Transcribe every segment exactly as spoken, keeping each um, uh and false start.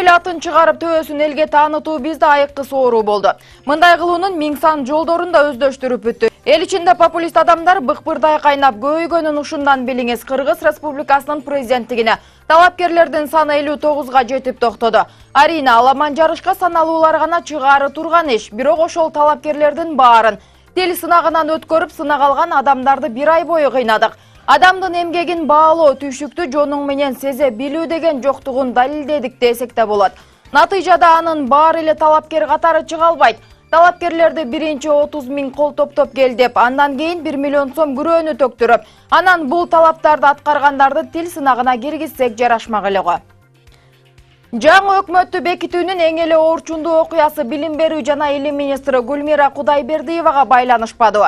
эл атын чыгарып төбөсүн элге таанытуу бизде айыккы соору болду. Мындай кылуунун миң сан жолдорун да өздөштүрүп бүттү. Эл ичинде популист адамдар быкпырдай кайнап көйгөнүн ушундан билиңиз Кыргыз Республикасынын президенттигине талапкерлердин саны элүү тогузга жетип токтоду. Арийна аламан жарышка саналуулар гана чыгары турган иш, бирок ошол талапкерлердин баарын тил сынагынан өткөрүп сынак алган адамдарды бир ай бою кыйнадык. Адамдын эмгегин баалоо, түйшүктү жонуң менен сезе билүү деген жоктугун далилдедик десек да болот. Натыйжада анын баары эле талапкер катары чыга албайт. Талапкерлерди биринчи отуз миң кол топтоп кел деп, андан кийин бир миллион сом күрөөнү төктүрүп, анан бул талаптарды аткаргандарды тил сынагына киргизсек жарашмак эле го. Жаңы өкмөттү бекитүүнүн эң эле оорчундуу окуясы билим берүү жана илим министри Гүлмира Кудайбердиевага байланышпады.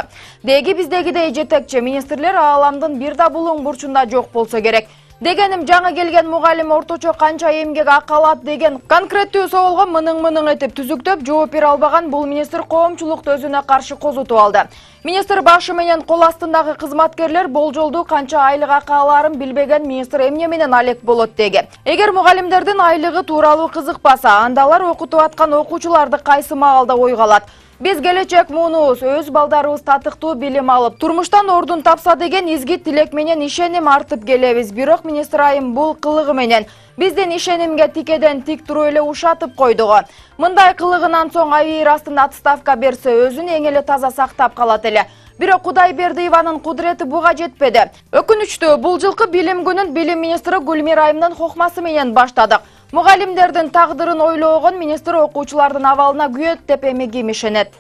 Деги биздегидей жетекчи министрлер ааламдын бир да булуң бурчунда жок болсо керек. Дегеним, жаңы келген мугалим орточо канча эмгек акы алат деген конкреттүү соолго мының-мының этип түзүктөп жооп бере албаган бул министр коомчулукту өзүнө каршы козутуп алды. Министр башы менен кол астындагы кызматкерлер болжолдуу канча айлык акы алаарын билбеген министр эмне менен алек болот деги. Эгер мугалимдердин айлыгы тууралуу кызыкпаса, анда алар окутуп аткан окуучуларды кайсы маалда ойго алат? Биз келечек муунубуз өз балдарыбыз татыктуу билим алып, турмуштан ордун тапса деген изги тилек менен ишеним артып келебиз. Бирок министр айым бул кылыгы менен биздин ишенимге тикеден тик туруп эле ушатып койду. Мындай кылыгынан соң айыр астында отставка берсе, өзүн эң эле таза сактап калат эле. Бирок Кудайбердиеванын кудурети буга жетпеди. Өкүнүчтүү, бул жылкы билим күнүн билим министри Гүлмира айымдын хокмасы менен баштадык. Мугалимдердин тагдырын ойлогон министр окуучулардын абалына күйөт деп эми ким ишенет?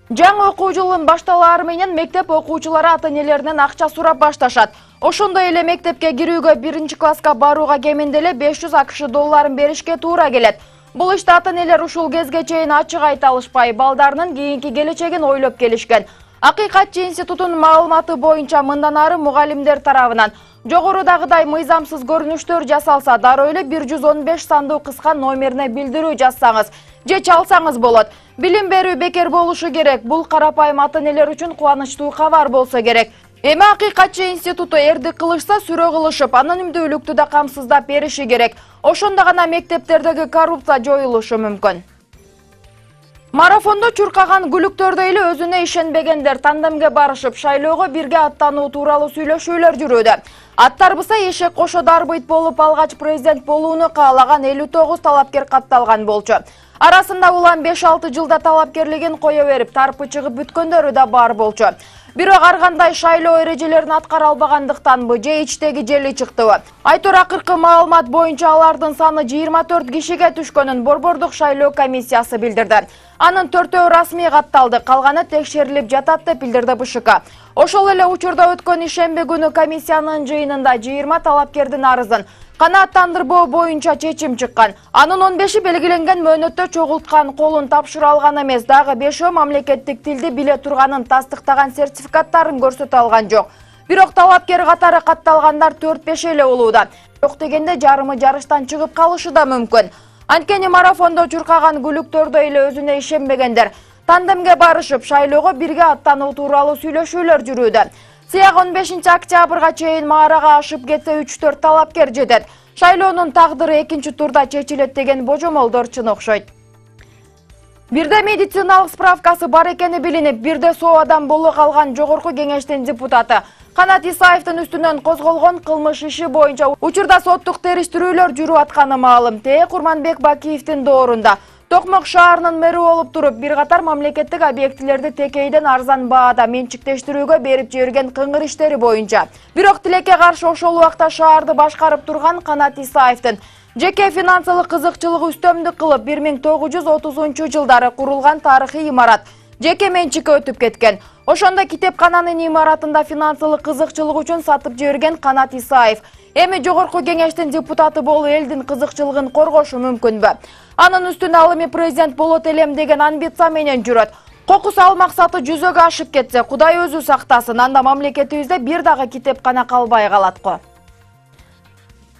Жаңы окуу жылынын башталаары менен мектеп окуучулары ата-энелеринен акча сурап башташат. Ошондой эле мектепке кирүүгө биринчи класска барууга кеминде эле беш жүз акш долларын беришке туура келет. Бул ишти ата-энелер ушул кезге чейин ачык айта алышпай, балдарынын кийинки келечегин ойлоп келишкен. Акыйкатчы институтунун маалыматы боюнча мындан ары мугалимдер тарабынан жогорудагыдай мыйзамсыз көрүнүштөр жасалса, дароо эле бир жүз он беш сандуу кыска номерине билдирүү жазсаңыз же чалсаңыз болот. Билим берүү бекер болушу керек. Бул карапайым ата-энелер үчүн кубанычтуу кабар болсо керек. Эми акыйкатчы институту эрдик кылышса сүрө кылышып, анонимдүүлүктү да камсыздап бериши керек. Ошондо гана мектептердеги коррупция жоюлушу мүмкүн. Марафондо чуркаган күлүктөрдөй эле өзүнө ишенбегендер тандемге барышып, шайлоого бирге аттануу тууралуу сүйлөшүүлөр жүрүүдө. Аттарбыса эшек кошо дарбыйт болуп алгач президент болууну каалаган элүү тогуз талапкер катталган болчу. Арасында улам беш алты жылда талапкерлигин кое берип, тарпы чыгып бүткөндөрү да бар болчу. Бирок ар кандай шайлоо эрежелерин аткара албагандыктанбы же ичтеги жели чыктыбы? Айтор акыркы маалымат боюнча алардын саны жыйырма төрт кишиге түшкөнүн Борбордук шайлоо комиссиясы билдирди. Анын төртөө расмий катталды, калганы текшерилип жатат деп билдирди Б Ш К. Ошол эле учурда өткөн ишемби күнү комиссиянын жыйынында жыйырма талапкердин арызын канааттандырбоо боюнча чечим чыккан. Анын он беши белгиленген мөөнөттө чогулткан, колун тапшыра алган эмес, дагы бешөө мамлекеттик тилди биле турганын тастыктаган сертификаттарын көрсөтө алган жок. Бирок талапкер катары катталгандар төрт беш эле болууда. Жок дегенде жарымы жарыштан чыгып калышы да мүмкүн. Анткени марафондо чуркаган күлүктөрдөй эле өзүнө ишенбегендер тандемге барышып, шайлоого бирге аттануу тууралуу сүйлөшүүлөр жүрүүдө. Сыяк он бешинчи октябрга чейин маарага ашып кетсе үч төрт талапкер жетет. Шайлоонун тагдыры экинчи турда чечилет деген божомолдор чын окшойт. Бирде медициналык справкасы бар экени билинип, бирде соо адам боло калган Жогорку кеңештин депутаты Канат Исаевдин үстүнөн козголгон кылмыш иши боюнча учурда соттук териштирүүлөр жүрүп атканы маалым. Те Курманбек Бакиевдин доорунда Токмок шаарынын мэри болуп туруп, бир катар мамлекеттик объектилерди текейден арзан баада менчиктештирүүгө берип жиберген кыңгыр иштери боюнча. Бирок тилекке каршы ошол убакта шаарды башкарып турган Канат Исаевдин жеке финансылык кызыкчылыгы үстөмдүк кылып, бир миң тогуз жүз отузунчу жылдары курулган тарыхый имарат жеке менчикке өтүп кеткен. Ошондо китепкананын имаратында финансылык кызыкчылык үчүн сатып жиберген Канат Исаев эми Жогорку кеңештин депутаты болуп элдин кызыкчылыгын коргошу мүмкүнбү? Анын үстүнө ал эми президент болот элем деген амбиция менен жүрөт. Кокус ал максаты жүзөгө ашып кетсе, Кудай өзү сактасын, анда мамлекетибизде бир дагы китепкана калбай калат го.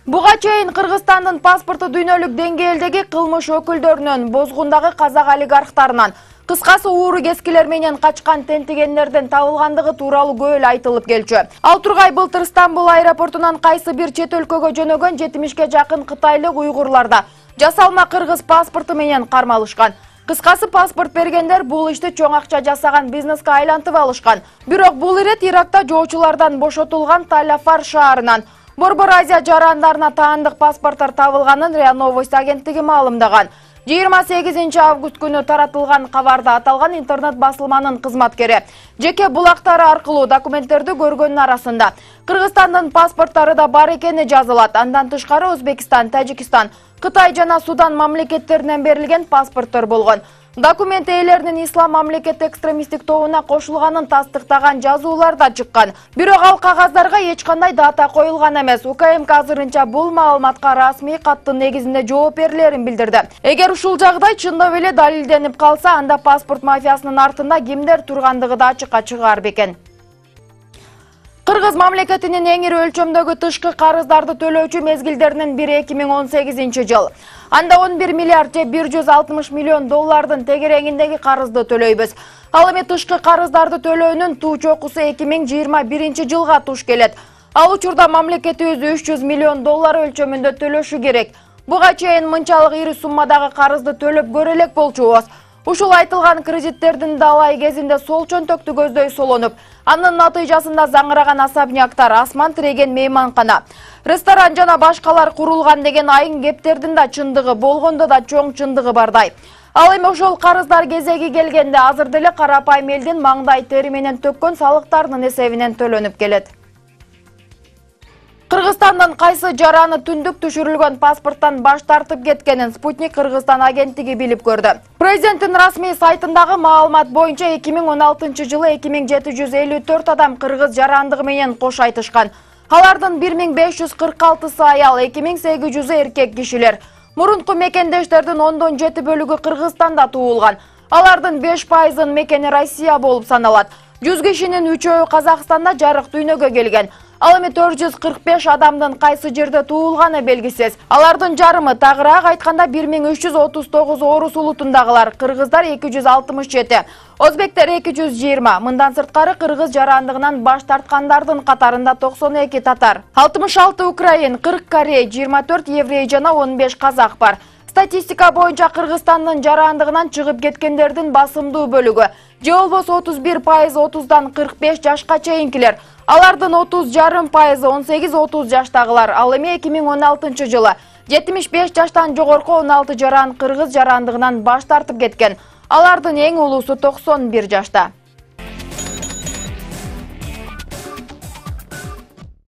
Буга чейин Кыргызстандын паспорту дүйнөлүк деңгээлдеги кылмыш өкүлдөрүнөн, бозгундагы казак олигархтарынан, Кыскасы ууру кескилер менен качкан тентигендерден табылгандыгы тууралуу көп эле айтылып келчү. Ал Тургай былтыр Стамбул аэропортунан кайсы бир чет өлкөгө жөнөгөн жетимишке жакын кытайлык уйгурларда жасалма кыргыз паспорту менен кармалышкан. Кыскасы паспорт бергендер бул ишти чоң акча жасаган бизнеске айлантып алышкан. Бирок бул ирет Иракта жоочулардан бошотулган Талафар шаарынан Борбор Азия жарандарына таандык паспорттор табылганын РИА Новости агенттиги маалымдаган. жыйырма сегизинчи август күнү таратылган кабарда аталган интернет басылманын кызматкери жеке булактары аркылуу документтерди көргөндүн арасында Кыргызстандын паспорттору да бар экени жазылат. Андан тышкары Өзбекстан, Тажикстан, Кытай жана Судан мамлекеттеринен берилген паспорттор болгон. Документ ээлеринин ислам мамлекет экстремисттик тобуна кошулганын тастыктаган жазуулар да чыккан. Бирок ал кагаздарга эч кандай дата коюлган эмес. УКМК азырынча бул маалыматка расмий каттын негизинде жооп берилерин билдирди. Эгер ушул жагдай чындап эле далилденип калса, анда паспорт мафиясынын артында кимдер тургандыгы да ачыкка чыгаар бекен. Кыргыз мамлекетинин эң ири өлчөмдөгү тышкы карыздарды төлөөчү мезгилдеринин бири эки миң он сегизинчи жыл. Анда он бир миллиард же бир жүз алтымыш миллион доллардын тегереңиндеги карызды төлөйбүз. Ал эми тышкы карыздарды төлөөнүн туу чокусу эки миң жыйырма биринчи жылга туш келет. Ал учурда мамлекетибиз үч жүз миллион доллар өлчөмүндө төлөшү керек. Буга чейин мынчалык ири суммадагы карызды төлөп көрө элек болчубуз. Ушул айтылган кредиттердин далай кезинде сол чөнтөктү көздөй солонуп, анын натыйжасында заңыраган особняктар, асман тиреген мейманкана, ресторан жана башкалар курулган деген айын кептердин да чындыгы болгондо да чоң чындыгы бардай. Ал эми ошол карыздар кезеги келгенде азыр деле карапайым элдин маңдай тери менен төккөн салыктарынын эсебинен төлөнүп келет. Кыргызстандын кайсы жараны түндүк түшүрүлгөн паспорттан баш тартып кеткенин Спутник Кыргызстан агенттиги билип көрдү. Президенттин расмий сайтындагы маалымат боюнча эки миң он алтынчы жылы эки миң жети жүз элүү төрт адам кыргыз жарандыгы менен кош айтышкан. Алардын бир миң беш жүз кырк алтысы аял, эки миң сегиз жүзү эркек кишилер. Мурунку мекендештердин ондон жети бөлүгү Кыргызстанда туулган. Алардын беш пайызынын мекени Россия болуп саналат. жүз кишинин үчөө Казакстанда жарык дүйнөгө келген. Ал эми төрт жүз кырк беш адамдын кайсы жерде туулганы белгисиз. Алардын жарымы, тагыраак айтканда бир миң үч жүз отуз тогуз орус улутундагылар, кыргыздар эки жүз алтымыш жети, өзбектер эки жүз жыйырма. Мындан сырткары кыргыз жарандыгынан баш тарткандардын катарында токсон эки татар, алтымыш алты украин, кырк корей, жыйырма төрт еврей жана он беш казак бар. Статистика боюнча Кыргызстандын жарандыгынан чыгып кеткендердин басымдуу бөлүгү, же болбосо отуз бир пайыз отуздан кырк беш жашка чейинкилер. Алардын отуз жарым пайызы он сегиз отуз жаштагылар. Ал эми эки миң он алтынчы жылы жетимиш беш жаштан жогорку он алты жаран кыргыз жарандыгынан баш тартып кеткен. Алардын эң улуусу токсон бир жашта.